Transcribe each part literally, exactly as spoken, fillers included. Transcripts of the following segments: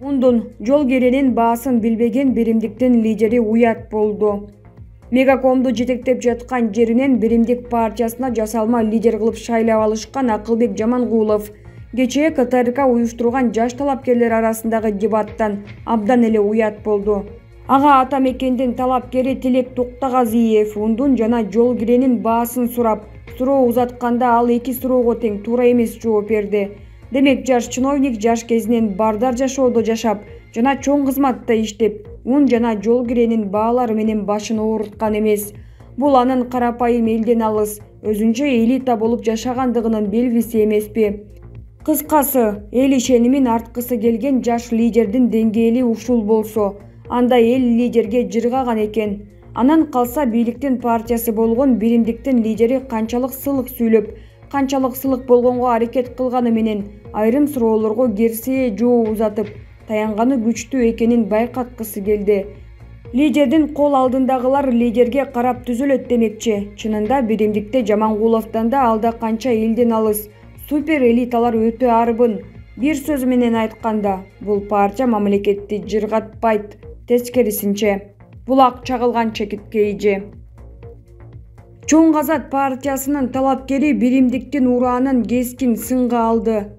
Мундун жол керенин баасын билбеген биримдиктин лидери уят болду. Мегакомду жетектеп жаткан жеринен Биримдик партиясына жасалма лидер кылып шайлап алышкан Акылбек Жамангулов кечээ КТРК уюштурган жаш талапкерлер арасындагы дебаттан абдан эле уят болду. Ага ата мекендин талапкери Тилек Токтогазиев ундун жана жол киренин баасын сурап, суроо узатканда ал эки суроого тең туура эмес жооп берди. Демек жаш чиновник жаш кезинен бардар жашоодо жашап жана чоң кызматта иштеп, ун жана жол киренин баалары менен башын ооруткан эмес. Бул анын карапайым элден алыс, өзүнчө элита болуп жашагандыгынын белгиси эмеспи? Кыскасы, эл ишенимин арткысы келген жаш лидердин деңгээли ушул болсо, анда эл лидерге жыргаган экен. Анан калса бийликтин партиясы болгон Биримдиктин лидери канчалык сылык сүйлөп, канчалык сылык болгонго аракет кылганы менен айрым суроолорго керсие жооп узатып, таянганы күчтүү экенин байкаткысы келди. Лидердин кол алдындагылар лидерге карап түзөлөт демекчи. Чынында Биримдикте Жамангуловдон да алда канча элден алыс супер элиталар өтө арбын. Бир сөз менен айтканда, бул партия мамлекетти жыргатпайт, тескерисинче, булак чагылган чекитке ийже. Чоң Азат партиясынын талапкери Биримдиктин ураанын кескин сынга алды.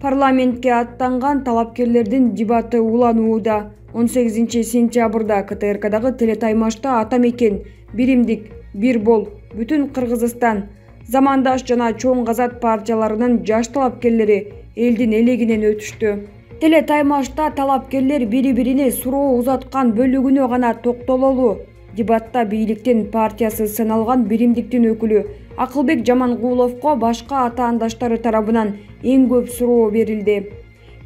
Парламентке аттанган талапкерлердин дебаты уланууда. он сегизинчи сентябрда КТРКдагы телетаймашта ата мекен, Биримдик, бир бол, бүтүн Кыргызстан, замандаш жана Чоң Азат партияларынын жаш талапкерлери элдин элегинен өтүштү. Телетаймашта талапкерлер бири-бирине суроо узаткан бөлүгүнө гана токтололу. Дебатта бийликтин партиясы саналган Биримдиктин өкүлү Акылбек Жамангуловго башка атаандаштары тарабынан эң көп суроо берилди.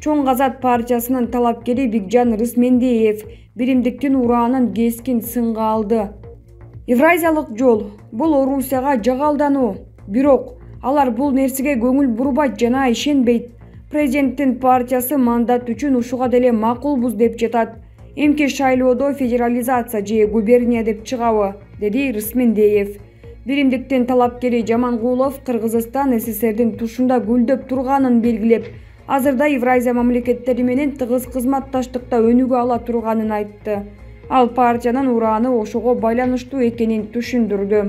Чоң Азат партиясынын талапкери Бикжан Рысмендиев Биримдиктин ураанын кескин сынга алды. Евразиялык жол бул Орусияга жагалдануу, бирок алар бул нерсеге көңүл бурбайт жана ишенбейт. Президенттин партиясы мандат үчүн ушуга деле макулбуз деп жатат. Эмки шайлоодо федерализация же губерния деп чыгабы, деди Рысмендиев. Биримдиктин талапкери Жамангулов Кыргызстан СССРдин тушунда гүлдөп турганын белгилеп, азырда Евразия мамлекеттери менен тыгыз кызматташтыкта өнүгө ала турганын айтты. Ал партиянын урааны ошого байланыштуу экенин түшүндүрдү.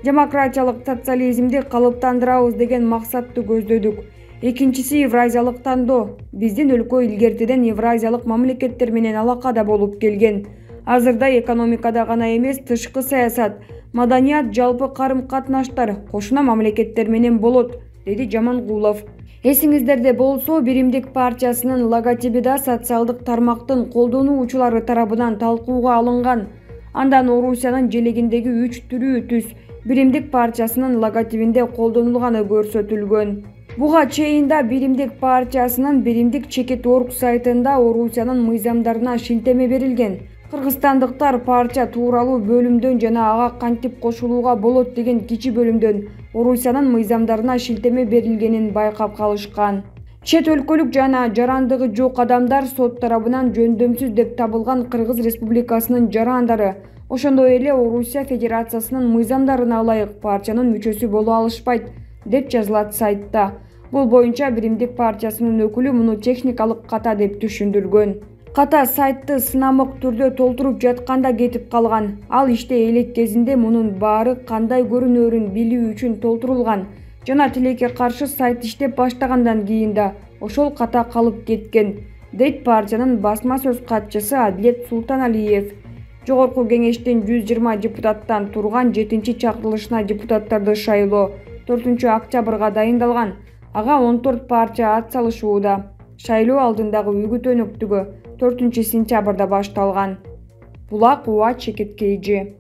Демократиялык социализмди калыптандырабыз деген максатты көздөдүк. Экинчиси евразиялык тандоо. Биздин өлкө илгертеден евразиялык мамлекеттер менен алакада болуп келген. Азырда экономикада гана эмес, тышкы саясат, маданият, жалпы карым-катнаштар кошуна мамлекеттер менен болот, деди Жамангулов. Эсиңиздерде болсо, Биримдик партиясынын логотиби да социалдык тармактын колдонуучулары тарабынан талкууга алынган. Андан Орусиянын желегиндеги үч түрүү түс Биримдик партиясынын логотипинде колдонулганы көрсөтүлгөн. Буга чейин да Биримдик партиясынын Биримдик чекит орг сайтында Орусиянын мыйзамдарына шилтеме берилген. Кыргызстандыктар партия тууралуу бөлүмдөн жана ага кантип кошулууга болот деген кичи бөлүмдөн Орусиянын мыйзамдарына шилтеме берилгенин байкап калышкан. Чет өлкөлүк жана жарандыгы жок адамдар сот тарабынан жөндөмсүз деп табылган Кыргыз Республикасынын жарандары, ошондой эле Орусия Федерациясынын мыйзамдарына ылайык партиянын мүчөсү боло алышпайт, деп жазылат сайтта. Бул боюнча Биримдик партиясынын өкүлү муну техникалык ката деп түшүндүргөн. Ката сайтты сынамык түрдө толтуруп жатканда кетип калган. Ал иште элек кезинде мунун баары кандай көрүнөрүн билүү үчүн толтурулган жана тилекке каршы сайт иштеп баштагандан кийин да ошол ката калып кеткен, дейт партиянын басма сөз катчысы Адилет Султаналиев. Жогорку кеңештин жүз жыйырма депутаттан турган жетинчи чакырылышына депутаттарды шайлоо төртүнчү октябрга дайындалган. Ага он төрт партия ат салышууда. Шайлоо алдындагы үгүт өнөктүгү төртүнчү сентябрда башталган. Булак уа чекитке ийже.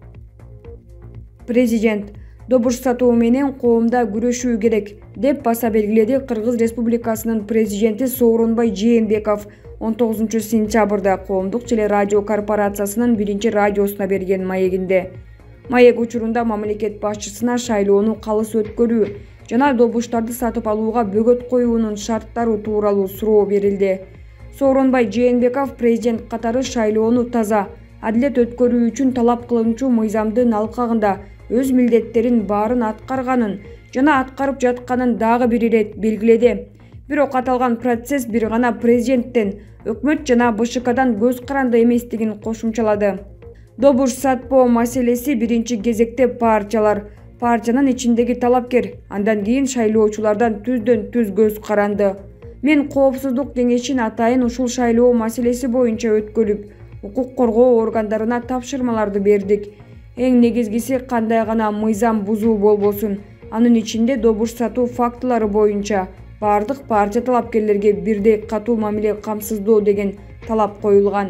Президент добуш сатуу менен коомдо күрөшүү керек, деп баса белгиледи Кыргыз Республикасынын президенти Сооронбай Жээнбеков он тогузунчу сентябрда Коомдук телерадио корпорациясынын биринчи радиосуна берген маегинде. Маек учурунда мамлекет башчысына шайлоону калыс өткөрүү жана добуштарды сатып алууга бөгөт коюунун шарттары тууралуу суроо берилди. Сооронбай Жээнбеков президент катары шайлоону таза, адилет өткөрүү үчүн талап кылынчу мыйзамдын алкагында өз милдеттерин баарын аткарганын жана аткарып жатканын дагы бир ирет белгиледи. Бирок аталган процесс бир гана президенттен, өкмөт жана Б Ш Кдан көз каранды эместигин кошумчалады. Добуш сатпоо маселеси биринчи кезекте партиялар, партиянын ичиндеги талапкер, андан кийин шайлоочулардан түздөн түз көз каранды. Мен Коопсуздук кеңешин атайын ушул шайлоо маселеси боюнча өткөрүп, укук коргоо органдарына тапшырмаларды бердик. Эң негизгиси кандай гана мыйзам бузуу болбосун, анын ичинде добуш сатуу фактылары боюнча бардык партия талапкерлерге бирдей катуу мамиле камсыздоо деген талап коюлган.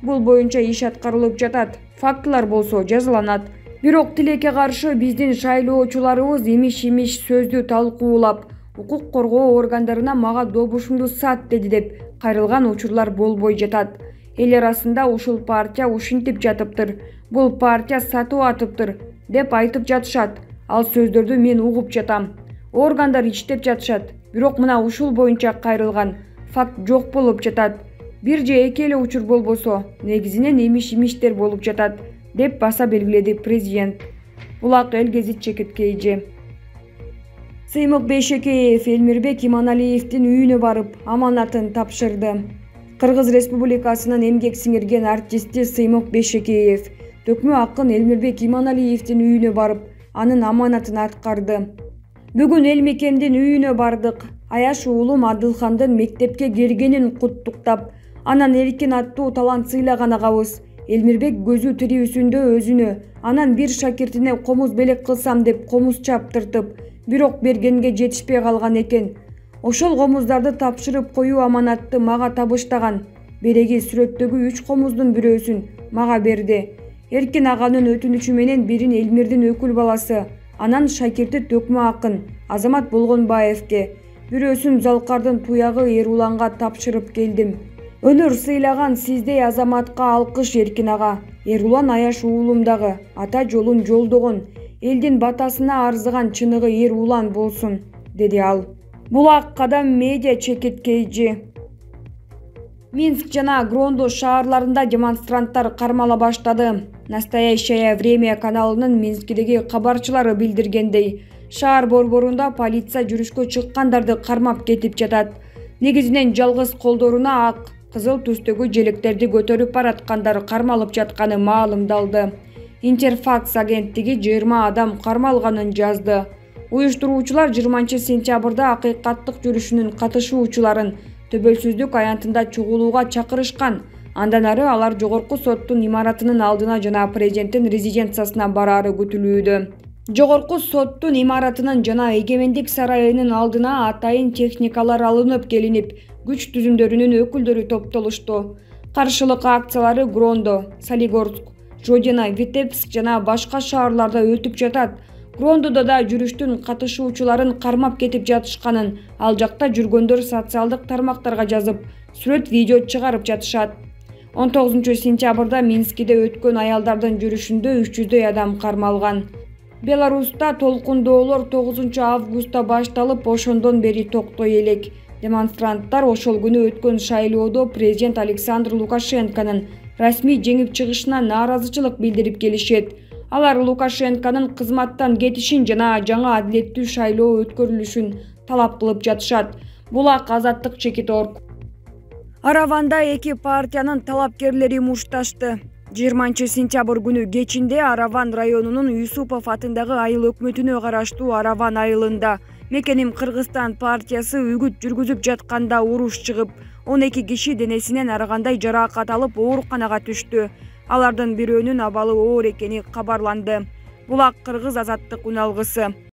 Бул боюнча иш аткарылып жатат, фактылар болсо жазаланат. Бирок тилекке каршы биздин шайлоочуларыбыз имиш-имиш сөздү талкуулап, укук коргоо органдарына мага добушумду сат деди деп кайрылган учурлар болбой жатат. Эл арасында ушул партия ушинтип жатыптыр, бул партия сатып атыптыр деп айтып жатышат. Ал сөздөрдү мен угуп жатам. Органдар иштеп жатышат, бирок мына ушул боюнча кайрылган факт жок болуп жатат. Бир же эки эле учур болбосо, негизинен имиш-имиштер болуп жатат, деп баса белгиледи президент. Булак эл гезит Чекиткейи. Сыймык Бейшекеев Элмирбек Иманалиевдин үйүнө барып, аманатын тапшырды. Кыргыз Республикасынын эмгек сиңирген артисти Сыймык Бейшекеев төкмө акын Элмирбек Иманалиевдин үйүнө барып, анын аманатын аткарды. Бүгүн эл мекендин үйүнө бардык. Аяш уулум Адылхандын мектепке киргенин куттуктап, анан эркин аттуу талант сыйлаган агабыз Элмирбек көзү тирүүсүндө өзүнө, анан бир шакиртине комуз белек кылсам деп комуз чаптыртып, бирок бергенге жетишпей калган экен. Ошол комуздарды тапшырып коюу аманатты мага табыштаган. Береги сүрөттөгү үч комуздун бирөөсүн мага берди. Эркин аганын өтүнүчү менен бирин Элмирдин өкүл баласы, анан шакирти төкмө акын Азамат Болгонбаевке, бирөөсүн Залкардын туягы Эруланга тапшырып келдим. Өнөр сыйлаган сиздей Азаматка алкыш Эркин ага. Эрулан Аяш уулумдагы ата жолун жолдогон, элдин батасына арзыган чыныгы Эрулан болсун, деди ал. Булак Кадам медиа Чекиткейи. Минск жана Грондо шаарларында демонстранттар кармала баштады. Настоящее время каналынын Минскидеги кабарчылары билдиргендей, шаар борборунда полиция жүрүшкө чыккандарды кармап кетип жатат. Негизинен жалгыз колдоруна ак, кызыл түстөгү желектерди көтөрүп бараткандар кармалып жатканы маалымдалды. Интерфакс агенттиги жыйырма адам кармалганын жазды. Уюштуруучулар жыйырманчы сентябрда акыйкаттык жүрүшүнүн катышуучуларын төбөлсүздүк аянтында чогулууга чакырышкан. Андан ары алар жогорку соттун имаратынын алдына жана президенттин резиденциясына бараары күтүлүүдө. Жогорку соттун имаратынын жана Эгемендик сарайынын алдына атайын техникалар алынып келинип, күч түзүмдөрүнүн өкүлдөрү топтолушту. Каршылык акциялары Грондо, Солигорск, Жодина, Витебск жана башка шаарларда өтүп жатат. Грондодо да жүрүштүн катышуучуларын кармап кетип жатышканын ал жакта жүргөндөр социалдык тармактарга жазып, сүрөт видео чыгарып жатышат. он тогузунчу сентябрда Минскиде өткөн аялдардын жүрүшүндө үч жүздөй адам кармалган. Беларуста толкундоолор тогузунчу августта башталып, ошондон бери токтой элек. Демонстранттар ошол күнү өткөн шайлоодо президент Александр Лукашенконун расмий жеңип чыгышына нааразычылык билдирип келишет. Алар Лукашенконун кызматтан кетишин жана жаңы адилеттүү шайлоо өткөрүлүшүн талап кылып жатышат. Булак Азаттык Чекиторг. Араванда эки партиянын талапкерлери мушташты. жыйырманчы сентябрь күнү кечинде Араван районунун Юсупов атындагы айыл өкмөтүнө караштуу Араван айылында Мекеним Кыргызстан партиясы үгүт жүргүзүп жатканда уруш чыгып, он эки киши денесинен ар кандай жаракат алып ооруканага түштү. Алардын бирөөнүн абалы оор экени кабарланды. Булак Кыргыз Азаттык үн алгысы.